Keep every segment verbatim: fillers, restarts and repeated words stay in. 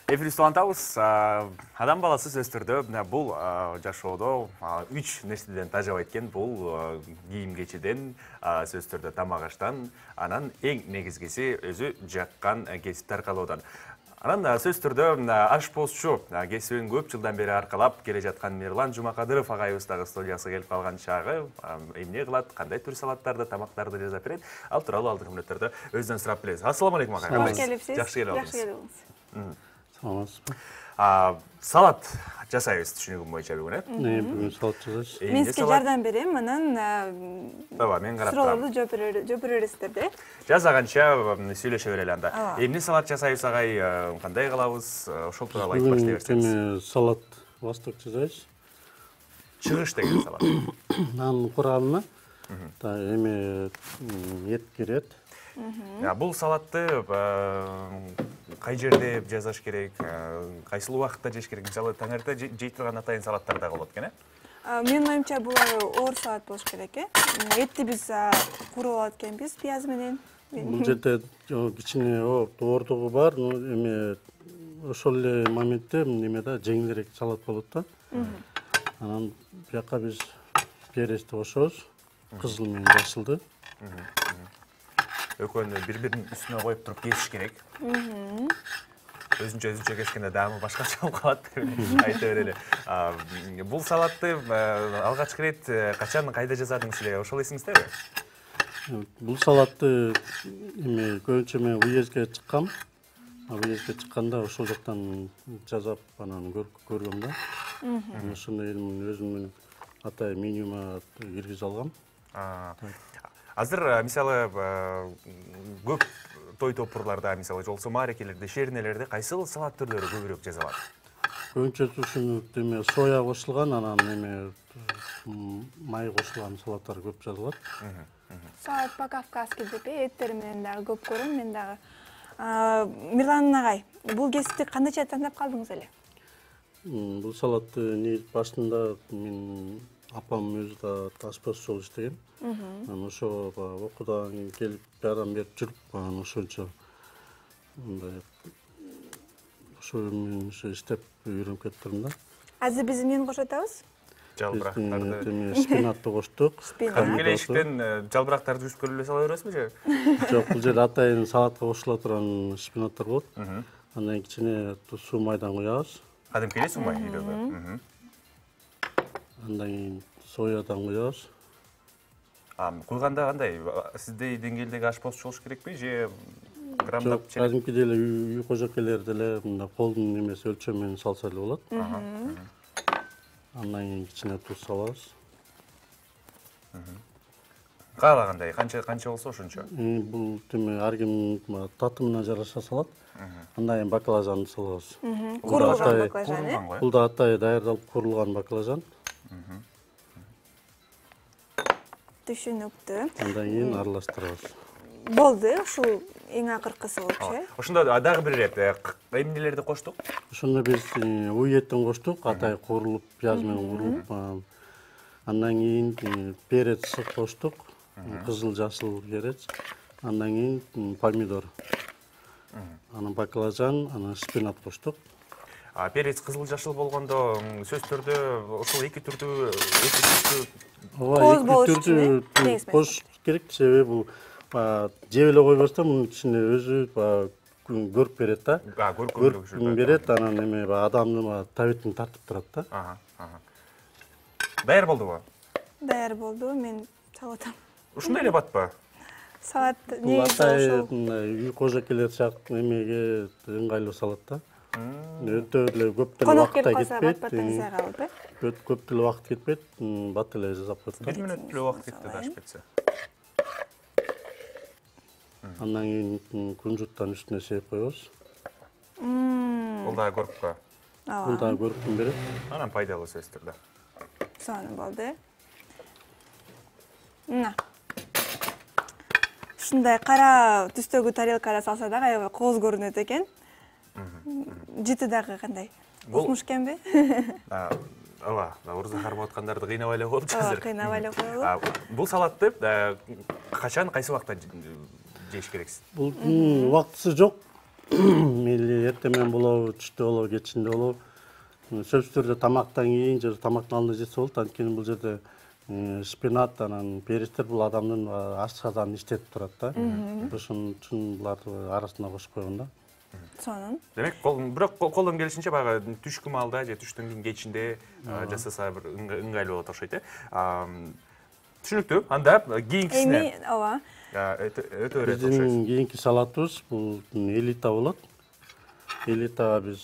Эфирибизди улантабыз. Адам баласы сөз түрдө бул жашоодо үч нерседен тажабайт экен. Бул кийим кечиден, сөз түрдө тамак аштан, анан эң негизгиси өзү жаккан кесип аркалоодан. Анан сөз түрдө ашпозчу кесибин көп жылдан бери аркалап келе жаткан Мирлан Жумакадыров агайыбыз дагы студияга келип калган чагы эмне кылат, кандай түр салаттарды, тамактарды жасап берет. Ал тууралуу алдыңкы мүнөттөрдө өзүнөн сурап билебиз. Ассаламу алейкум агай. Кош келипсиз. Жакшы келип алдыңыз. Саламатсызбы? Салат жасайбыз түшүнүгүм боюнча бүгүн, э? Не, бүгүн салат жасайбыз. Мен сизге жардам берем, анан ооба, мен карап турам. Суроолорду жооп бересиздер да. Жазаганча сүйлөшө берели анда. Эмне салат жасайбыз агай, кандай кылабыз? Ошол тууралуу айтып баштай берсеңиз. Бүгүн салат восток жасайбыз. Чыгыш деген салат. Анын курамына эме эт кирет. Бул салатты кай жерде жасаш керек, кайсыл убакытта жеш керек? Мисалы, таңерте жей турган атайын салаттар да болот экен, э? Менин оюмча бул оор салат болуш керек, э? Этти биз куруп алат экенбиз пияз менен. Бул жерде кичине оордугу бар, эме ошол эле моментте неме да жеңилирээк салат болот да. Анан бияка биз перецти кошобуз, кызыл менен жашылды. Экөөнү бири-биринин үстүнө коюп туруп кесиш керек. Өзүнчө өзүнчө кескенде даамы башкача болуп калат деп айта берели. Бул салатты алгачкы ирет качан, кайда жасадыңыз эле? Ошол эсиңиздеби? Бул салатты эме көбүнчө мен уездге чыккам. Уездге чыкканда ошол жактан жасап анан көргөм да. Ошондой өзүмдүн атай менюма киргизе алгам. Азыр мисалы көп той топурларда, мисалы жолсо маарекелерде, шернелерде кайсыл салат түрлөрү көбүрөөк жасалат? Көбүнчө ушуну эме соя кошулган, анан эме май кошулган салаттар көп жасалат. Салат по-кавказски деп эттер менен дагы көп көрөм мен дагы. Мирлан агай, бул кесипти кандайча тандап калдыңыз эле? Бул салатты негизи башында мен апам өзү да ашпозчу болуп иштеген. Анан ошо окуудан келип жардам берип жүрүп, анан ошончо мындай ошо менен ошо иштеп үйрөнүп кетиптирмин да. Азыр биз эмнени кошуп атабыз? Жалбырактарды. Эме шпинатты коштук. Кадимки эшиктен жалбырактарды жүзүп көрүп эле сала бересизби же? Жок, бул жерде атайын салатка кошула турган шпинаттар болот. Андан кичине суу майдан куябыз. Кадимки эле суу май үйдөгү. Андан кийин соядан куябыз. Куйганда кандай? Сиздей деңгээлдеги ашпозчу болуш керекпи же грамдап чек? Кадимки деле үй кожокейлер деле мындай колдун немеси өлчөм менен салса эле болот. Андан кийин кичине туз салабыз. Каалагандай, канча канча болсо ошончо. Бул теме ар кимдин татымына жараша салат. Андан кийин баклажанды салабыз. Курулган баклажан, э? Бул да атай даярдалып курулган баклажан. Түшүнүктүү. Андан кийин аралаштырабыз. Болду, ушул эң акыркысы болчу, э? Ошондо дагы бир ирет эмнелерди коштук? Ошондо биз уеттен коштук, атай курулуп, пияз менен курулуп. Андан кийин перец коштук, кызыл жашыл перец. Андан кийин помидор. Анан баклажан, анан шпинат коштук. Перец кызыл жашыл болгондо сөз түрдө ошол эки түрдүү эки түрдүү кооз болуш үчүн кош керек, себеби бул жеп эле койбостон мунун ичинде өзү көрүп берет да. Көрүп берет, анан эме адамдын табитин тартып турат да. Даяр болдубу? Даяр болду, мен салып атам. Ушундай эле батпы? Салат негизи ошол үй кожокейлер сыяктуу эмеге ыңгайлуу салат да. Өтө эле көп деле убакыт кетпейт. Көп деле убакыт кетпейт, бат эле жасап коет да. бир мүнөт деле убакыт кетти да ашып кетсе. Андан кийин кунжуттан үстүнө сээп коебуз. Бул дагы көрүпкө. Бул дагы көрүктүн берет. Анан пайдалуу сөз түрдө. Сонун болду. Мына. Ушундай кара түстөгү тарелкада салса дагы аябай кооз көрүнөт экен. Жыты дагы кандай? Укмуш экенби? Ооба, оорузга кармап аткандарды кыйнабай эле коелучу азыр. Кыйнабай эле коелу. Бул салатты качан, кайсы убакта жеш керексиз? Бул убактысы жок. мейли эртең менен болобу, түштө болобу, кечинде болобу. Сөзсүз түрдө тамактан кийин же тамактын алдында жесе болот. Анткени бул жерде шпинат, анан перистер бул адамдын ашказанын иштетип турат да. Ошон үчүн буларды арасына кошуп койгон да. Сонун. Демек, бирок колдон келишинче баягы түшкү маалда же түштөн кийин кечинде жасаса бир ыңгайлуу болот окшойт, э. Түшүнүктүү. Анда кийинкисине. Эми, ооба. Өтө берет окшойт. Биздин кийинки салатыбыз бул элита болот. Элитага биз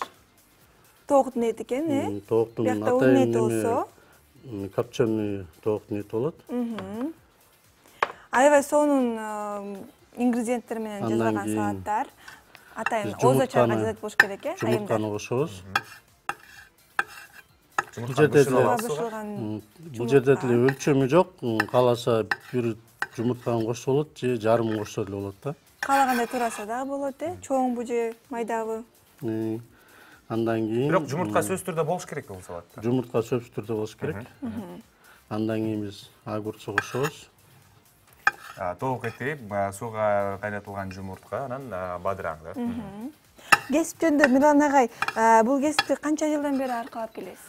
Тооктун эти экен, э? Тооктун Биякта унун эти болсо, копченый тооктун эти болот. Аябай сонун ингредиенттер менен жасалган салаттар. Атайын озо чайга жазат болуш керек, э? Жумуртканы кошобуз. Бул жерде бул жерде деле өлчөмү жок. Кааласа бир жумуртканы кошсо болот же жарым кошсо деле болот да. Каалагандай тураса дагы болот, э? Чоңбу же майдабы. Андан кийин бирок жумуртка сөзсүз түрдө болуш керек бул салатта. Жумуртка сөзсүз түрдө болуш керек. Андан кийин биз огурчу кошобуз. Тоок эти, сууга кайнатылган жумуртка, анан бадыраң да. Кесип жөнүндө Мирлан агай, бул кесипти канча жылдан бери аркалап келесиз?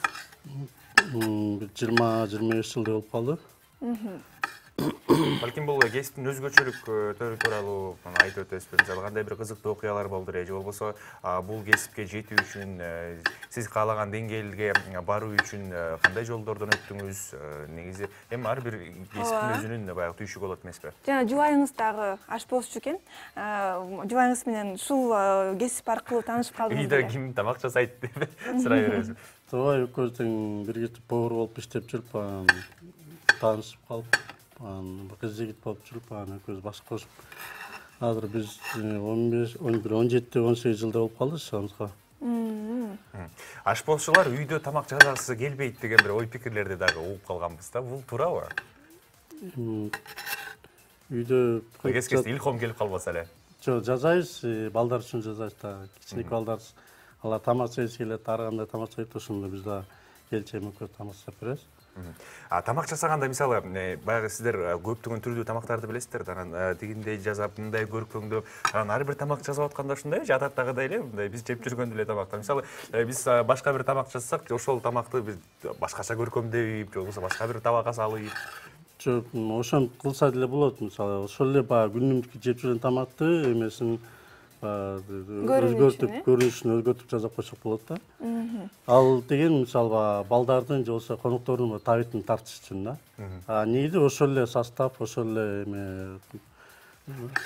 Бир жыйырма жыйырма беш жылдай болуп калды. Балким бул кесиптин өзгөчөлүктөрү тууралуу айтып өтөсүзбү? Мисалы кандай бир кызыктуу окуялар болду же болбосо бул кесипке жетүү үчүн сиз каалаган деңгээлге баруу үчүн кандай жолдордон өттүңүз? Негизи эми ар бир кесиптин өзүнүн баягы түйшүгү болот эмеспи? Жана жубайыңыз дагы ашпозчу экен. Жубайыңыз менен ушул кесип аркылуу таанышып калдыңыз. Үйдө ким тамак жасайт деп сурай беребиз. Туура, экөөбүздүн бирге повар болуп иштеп жүрүп, таанышып калып, кыз жигит болуп жүрүп, экөөбүз баш кошуп. Азыр биз он беш, он бир, он жети, он сегиз жылдай болуп калды шамызга. Ашпозчулар үйдө тамак жасагысы келбейт деген бир ой пикирлерди дагы угуп калганбыз да. Бул туурабы? Үйдө кез-кезде илхом келип калбаса эле. Жок, жасайбыз, балдар үчүн жасайбыз да. Кичинекей балдар алар тамак жегиси келет, ар кандай тамак жейт, ошондо биз да келчек экөө тамак жасап беребиз. Тамак жасаганда мисалы баягы сиздер көптөгөн түрдүү тамактарды билесиздер да, анан тигиндей жасап, мындай көркөмдөө, анан ар бир тамак жасап атканда ушундай же адаттагыдай эле мындай биз жеп жүргөн эле тамактар. Мисалы биз башка бир тамак жасасак, ошол тамакты биз башкача көркөмдөйүп, же болбосо башка бир табакка салып. Жок, ошентип кылса деле болот. Мисалы ошол эле баягы күнүмдүк жеп жүргөн тамакты эмесин өзгөртүп, көрүнүшүн өзгөртүп жасап койсок болот да. Ал деген мисалы балдардын же болбосо коноктордун табитин тартыш үчүн да. А негизи ошол эле состав, ошол эле эме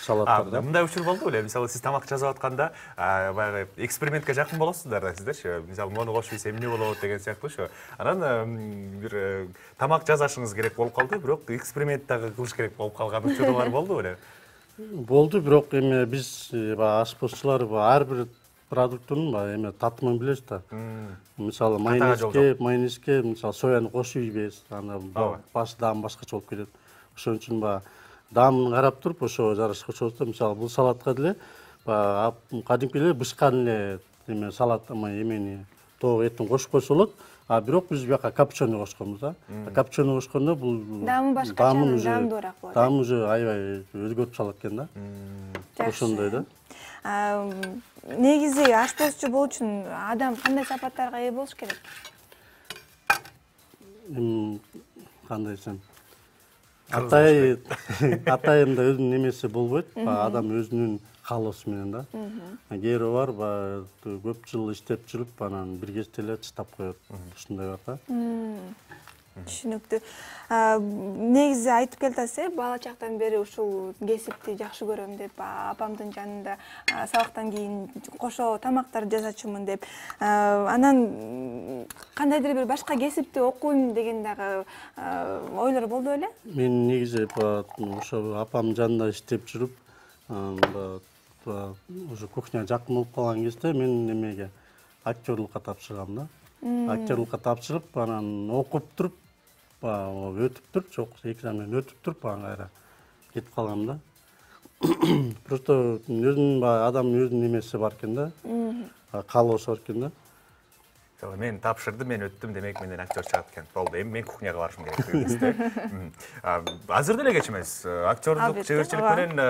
салаттар да. Мындай учур болду беле? Мисалы сиз тамак жасап атканда баягы экспериментке жакын болосуздар да сиздерчи. Мисалы мону кошуп ийсем эмне болот деген сыяктуучу. Анан бир тамак жасашыңыз керек болуп калды, бирок эксперимент дагы кылыш керек болуп калган учурлар болду беле? Болду, бирок эми биз ашпозчулар ар бир продукттун эме татымын билебиз да. Мисалы майонезге, майонезге мисалы сояны кошуп ийбейбиз. Аны баш даам башкача болуп кетет. Ошон үчүн баягы даамын карап туруп ошого жараша кошобуз да. Мисалы бул салатка деле баягы кадимки эле бышкан эле эме салат эмени тоок этин кошуп койсо болот. А бирок биз бияка копченый кошконбуз да. Копченый кошкондо бул даамы башкача, даамдуураак болот. Даамы уже аябай өзгөрүп салат экен да. Ошондой да. Негизи ашпозчу болуу үчүн адам кандай сапаттарга ээ болуш керек? Кандай десем, атай атайында өзүнүн эмеси болбойт, адам өзүнүн каалоосу менен да. Кээ бирөө бар, баягы көп жыл иштеп жүрүп, анан бир кезде эле таштап коет. Ушундай бар да. Түшүнүктүү. Негизи айтып келатасыз, бала чактан бери ушул кесипти жакшы көрөм деп, апамдын жанында сабактан кийин кошо тамактар жасачумун деп. Анан кандайдыр бир башка кесипти окуйм деген дагы ойлор болду беле? Мен негизи ошо апамдын жанында иштеп жүрүп, уже кухня жакын болуп калган кезде мен эмеге актерлукка тапшыргам да. Актерлукка тапшырып, анан окуп туруп, өтүп туруп, жок, экзамен өтүп туруп, анан кайра кетип калгам да. Просто өзүнүн адамдын өзүнүн эмеси бар экен да. Каалоосу бар экен да. Мен тапшырдым, мен өттүм, демек менден актер чыгат экен. Болду, эми мен кухняга барышым керек дегенсиз. Азыр деле кеч эмес. Актерлук чеберчилик менен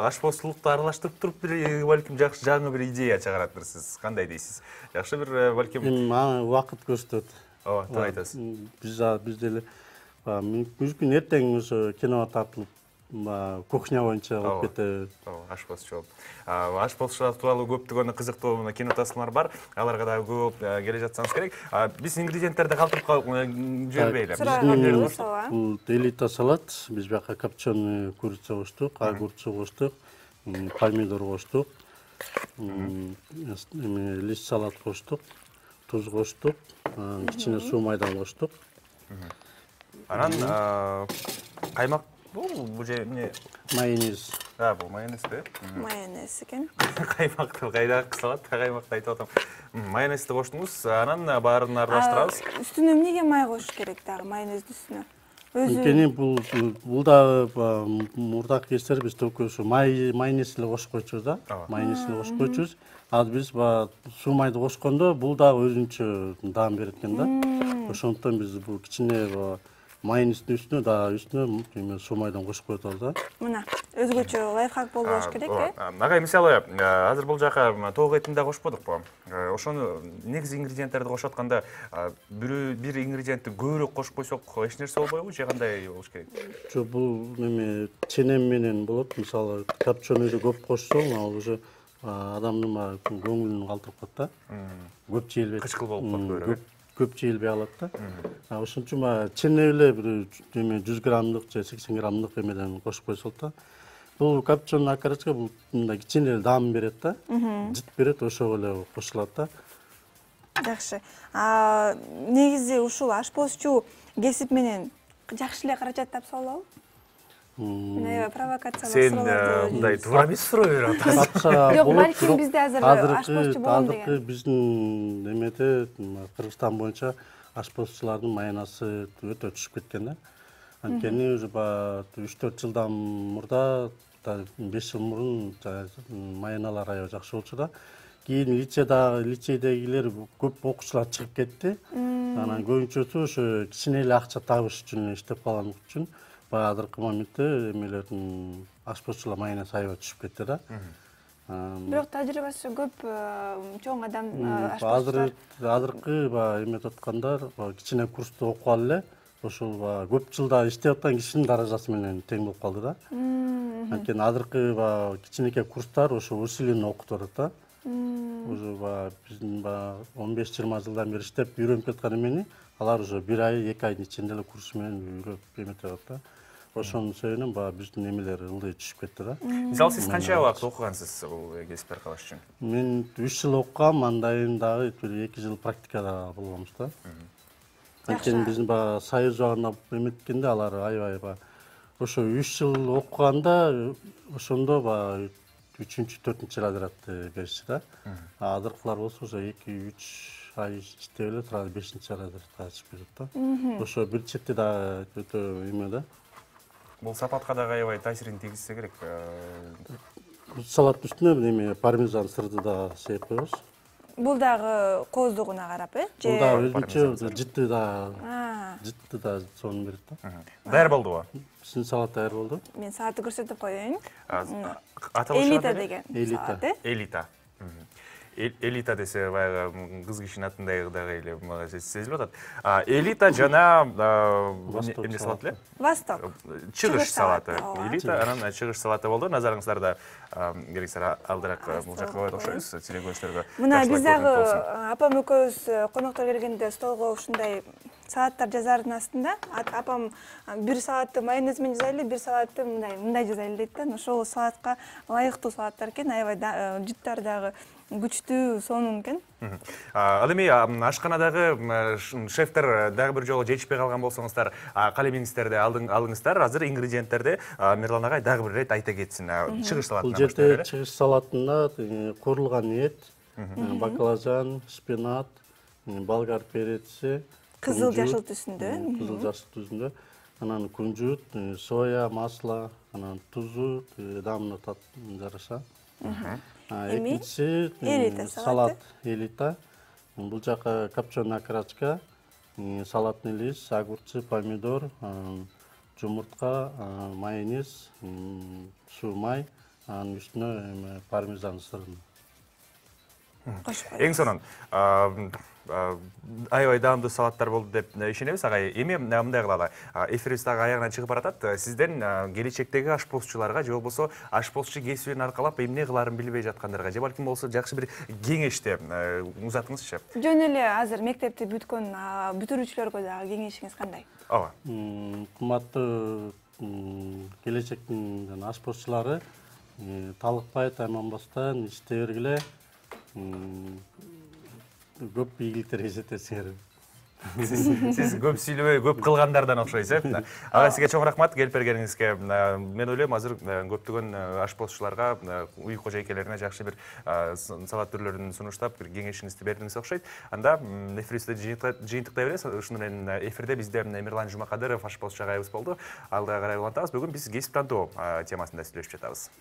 ашпоздуулукту аралаштырып туруп бир балким жакшы жаңы бир идея чыгараттырсыз. Кандай дейсиз? Жакшы бир балким Эми убакыт көрсөтөт. Ооба, туура айтасыз. Биз биз деле мүмкүн эртең ошо кино тартылып кухня боюнча болуп кетеби. Ооба, ашпозчу болуп. Ашпозчулар тууралуу көптөгөн кызыктуу кино тасмалар бар. Аларга да көп келе жатсаңыз керек. Биз ингредиенттерди калтырып жибербейли. Бул элита салат. Биз бияка копченый курица коштук, огурчу коштук, помидор коштук, лист салат коштук, туз коштук, кичине суу майдан коштук. Анан каймак бул бул же эмне? Майонез. А, бул майонез да? Майонез экен. Каймакты кайдагы салат, каймакты айтып атам. Майонезди коштуңуз, анан баарын аралаштырабыз. Үстүнө эмнеге май коюш керек дагы майонездин үстүнө? Анткени бул бул дагы мурдакы кездер биз только ушу майонез эле кошуп койчубуз да. Майонез эле кошуп койчубуз. Азыр биз суу майды кошкондо бул дагы өзүнчө даам берет экен да. Ошондуктан биз бул кичине майонездин үстүнө дагы үстүнө суу майдан кошуп коюп атабыз да. Мына өзгөчө лайфхак болбош керек э? Агай, мисалы азыр бул жака тоок этин да кошподукпу? Ошону негизи ингредиенттерди кошуп атканда бир ингредиентти көбүрөөк кошуп койсок эч нерсе болбойбу же кандай болуш керек? Жок, бул неме ченем менен болот. Мисалы копченыйды көп кошсоң, ал уже адамдын көңүлүн калтырып коет да. Көп жейилбейт. Кычкыл болуп калат көбүрөөк. Көп жейилбей калат да. Ошон үчүн чене эле бир жүз граммдык же сексен граммдык эмеден кошуп койсок да. Бул копченый окорочка бул мындай кичине эле даам берет да. Жыт берет, ошого эле кошулат да. Жакшы. Негизи ушул ашпозчу кесип менен жакшы эле каражат тапса болобу? Мен аябай провокациялык суроолорду. Сен мындай туура эмес суроо берип атасың. Жок, балким бизде азыр ашпозчу болом деген. Азыркы биздин немеде Кыргызстан боюнча ашпозчулардын маянасы өтө түшүп кеткен да. Анткени уже үч төрт жылдан мурда, беш жыл мурун маяналар аябай жакшы болчу да. Кийин лицейдегилер көп окуучулар чыгып кетти. Анан көбүнчөсү ошо кичине эле акча табыш үчүн иштеп калган үчүн баягы азыркы моментте эмелердин ашпозчулар маянасы аябай түшүп кетти да. Бирок тажрыйбасы көп чоң адам ашпозчулар. Азыркы эметип аткандар кичине курсту окуп алып эле ошол көп жылда иштеп аткан кишинин даражасы менен тең болуп калды да. Анткени азыркы кичинекей курстар ошо усиленно окутуп атат да. Уже биздин он беш жыйырма жылдан бери иштеп үйрөнүп кеткен эмени алар уже бир ай, эки айдын ичинде эле курс менен үйрөнүп эметип атат да. Ошонун себебинен баягы биздин эмелер ылдый түшүп кетти да. Мисалы сиз канча убакыт окугансыз бул кесипти аркалаш үчүн? Мен үч жыл окугам, андайын дагы бир эки жыл практикада болгонбуз да. Анткени биздин баягы союз жагына эметкенде алар аябай ошо үч жыл окуганда ошондо баягы үчүнчү, төртүнчү разрядты беришти да. Азыркылар болсо ошо эки үч ай иштеп эле тура бешинчи разрядка чыгып кетет да. Ошо бир чети да өтө эме да. Бул сапатка дагы аябай таасирин тийгизсе керек. Салаттын үстүнө эме пармезан сырды да сээп коебуз. Бул дагы кооздугуна карап э? Бул дагы өзүнчө жытты да, жытты да сонун берет да. Даяр болдубу? Биздин салат даяр болду. Мен салатты көрсөтүп коеюн. Элита деген салат э? Элита. Элита десе баягы кыз кишинин атындай дагы эле мага сезилип атат. Элита жана эмне салат эле? Восток. Чыгыш салаты. Элита, анан чыгыш салаты болду. Назарыңыздарда керексе алдыраак бул жака коет окшойбуз, телекөрүүчүлөргө. Мына биз дагы апам экөөбүз коноктор келгенде столго ушундай салаттар жазардын астында. Апам бир салатты майонез менен жазайлы, бир салатты мындай мындай жазайлы дейт да. Ошол салатка ылайыктуу салаттар экен, аябай жыттары дагы күчтүү, сонун экен. Ал эми ашканадагы шефтер дагы бир жолу жетишпей калган болсоңуздар, калемиңиздерди алыңыздар. Азыр ингредиенттерди Мерлан агай дагы бир ирет айта кетсин. Чыгыш салатына баштайлы. Бул жерде чыгыш салатында куурулган эт, баклажан, шпинат, болгар переци, кызыл жашыл түсүндө, кызыл жашыл түсүндө, анан кунжут, соя, масло, анан тузу, даамына жараша. Экинчиси салат элита. Бул жака копченый окорочка, салатный лист, огурцы, помидор, жумуртка, майонез, суу май, анын үстүнө пармезан сырын. Эң сонун аябай даамдуу салаттар болду деп ишенебиз. Агай, эми мындай кылалы. Эфирибиз дагы аягына чыгып баратат. Сизден келечектеги ашпозчуларга же болбосо ашпозчу кесибин аркалап эмне кылаарын билбей жаткандарга же балким болсо жакшы бир кеңешти узатыңызчы. Жөн эле азыр мектепти бүткөн бүтүрүүчүлөргө дагы кеңешиңиз кандай? Ооба. Кымбаттуу келечектин ашпозчулары, талыкпай, тайманбастан иштей бергиле. Көп ийгиликтер эсептесиңер. Сиз көп сүйлөбөй, көп кылгандардан окшойсуз, э? Ага, сизге чоң рахмат келип бергениңизге. Мен ойлойм, азыр көптөгөн ашпозчуларга, үй кожойкелерине жакшы бир салат түрлөрүн сунуштап, бир кеңешиңизди бердиңиз окшойт. Анда эфирибизди жыйынтыктай беребиз. Ушуну менен эфирде бизде Эмирлан Жумакадыров ашпозчу агайыбыз болду. Алдыга карай улантабыз. Бүгүн биз кесип тандоо темасында сүйлөшүп жатабыз.